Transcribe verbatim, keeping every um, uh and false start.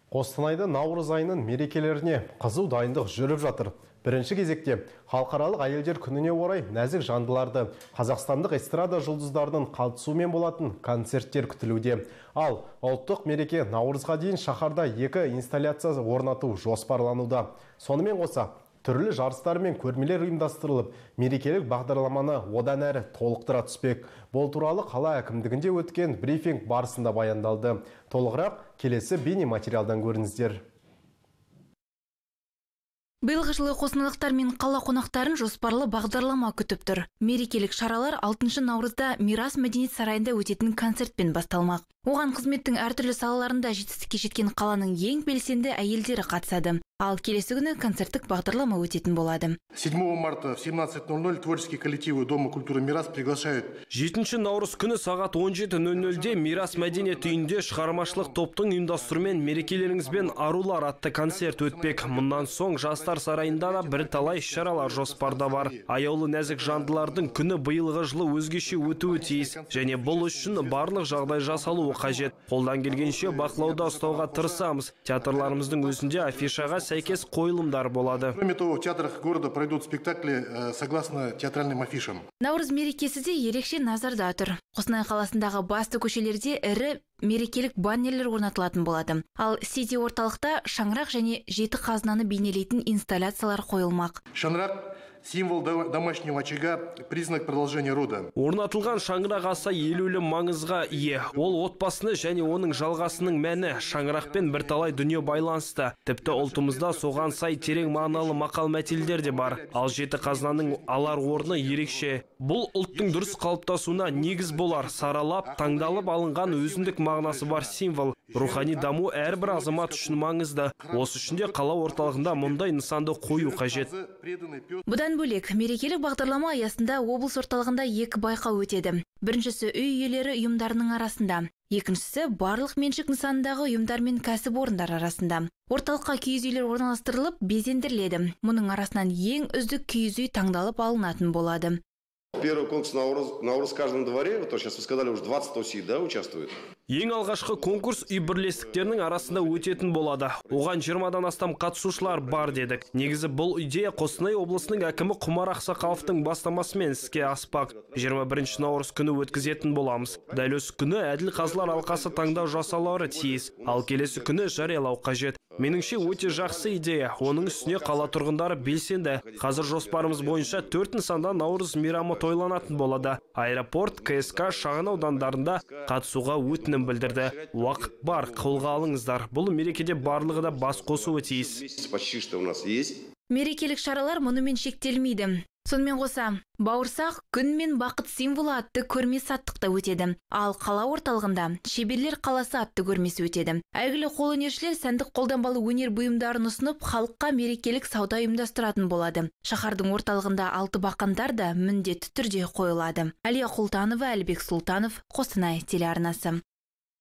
Қостанайда наурыз айының мерекелеріне қызу дайындық жүріп жатыр. Бірінші кезекте халықаралық әйелдер күніне орай нәзік жандыларды қазақстандық эстрада жұлдыздарының қатысуымен болатын концерттер күтілуде. Ал ұлттық мереке наурызға дейін шаһарда екі инсталляция орнату жоспарлануда. Сонымен қоса түрлі жарыстар мен көрмелер ұйымдастырылып, мерекелік бағдарламаны одан әрі толықтыра түспек. Бұл туралы қала әкімдігінде өткен брифинг барысында баяндалды. Толығырақ келесі бейне материалдан көріңіздер. Биылғы жылы қостанайлықтар мен қала қонақтарын жоспарлы бағдарлама күтіп тұр. Мерекелік шаралар алтыншы наурызда Мирас мәдениет сарайында өтетін концертпен басталмақ. Оған қызметтің әртүрлі салаларында жетістікке жеткен қаланың ең белсенді әйелдері қатысады. Ал келесі күні концерттік бағдарлама өтетін болады. седьмого марта в семнадцать ноль ноль творческие коллективы Дома культуры Мирас приглашают. жетінші наурыз күні сағат он жеті нөл нөлде Мирас мәдениет үйінде шығармашылық топтың ұйымдастыруымен мерекелеріңізбен арулар атты концерт өтпек. Мұнан соң жастар сарайында да бір талай шаралар жоспарда бар. Аяулы нәзік жандылардың күні биылғы жылы өзгеше өтуі тиіс, және бұл үшін барлық жағдай жасалуы қажет. Қолдан келгенше бақылауда ұстауға тырысамыз. Театрларымыздың өзінде афишаға сәйкес қойылымдар болады. Кроме того, в театрах города пройдут спектакли согласно театральным афишам. Наурыз мерекесі де ерекше назарда тұр. Қостанай қаласындағы басты көшелерде ірі мерекелік баннерлер орнатылатын болады. Ал Сити орталықта шаңырақ және жеті қазынаны бейнелейтін инсталляциялар қойылмақ. Шаңырақ символ домашнего очага, признак продолжения рода. Орнатылған шаңырақ аса елеулі маңызға ие. Ол отбасыны және оның жалғасының мәні. Шаңырақпен бірталай дүние байланысты. Тіпті ұлтымызда соған сай терең мағыналы мақал мәтелдер де бар. Ал жеті қазынаның алар орны ерекше. Бұл ұлттың дұрыс қалыптасуына негіз болар. Саралап, таңдалып алынған өзіндік мағынасы бар символ. Рухани даму әрбір азамат үшін маңызды. Осы үшін де қала орталығында мұндай нысанды қою қажет. Бұдан бөлек, мерекелік бағдарлама аясында облыс орталығында екі байқау өтеді. Біріншісі үй иелері ұйымдарының арасында. Екіншісі барлық меншік нысандағы ұйымдар мен кәсіпорындар арасында. Орталыққа киіз үйлер орналастырылып, безендіріледі. Мұның арасынан ең үздік киіз үй таңдалып алынатын болады. Первый конкурс Наурыз, Наурыз в каждом дворе, вот сейчас вы сказали, уже двадцать осей, да, участвуют? Ең алғашқы конкурс үй бірлестіктерінің арасында өтетін болады. Оған жиырмадан астам қатысушылар бар дедік. Негізі бұл идея Қостанай облысының әкімі Құмар Ақсақаловтың бастамасымен іске аспақ. жиырма бірінші наурыз күні өткізетін боламыз. Дәл осы күні әділ қазылар алқасы таңдау жасалары тиіс, ал келесі күні жариялау қажет. Меніңше өте жақсы идея. Оның үстіне қала тұрғындары белсенді. Қазір жоспарымыз бойынша төрт нысанда наурыз мейрамы тойланатын болады. Аэропорт, КСК шағын аудандарында қатысуға өтінім білдірді. Уақыт бар, қолға алыңыздар. Бұл мерекеде барлығы да бас қосуы тиіс. Мерекелік шаралар мұнымен шектелмейді. Сонымен қоса, бауырсақ күн мен бақыт символы атты көрме саттықта өтеді. Ал қала орталығында шеберлер қаласы атты көрмесі өтеді. Әйгілі қолөнершілер сәндік қолданбалы өнер бұйымдарын ұсынып, халыққа мерекелік сауда ұйымдастыратын болады. Шаһардың орталығында алты бақандар да міндетті түрде қойылады. Әлия Құлтанова, Әлбек Сұлтанов, Қостанай телеарнасы.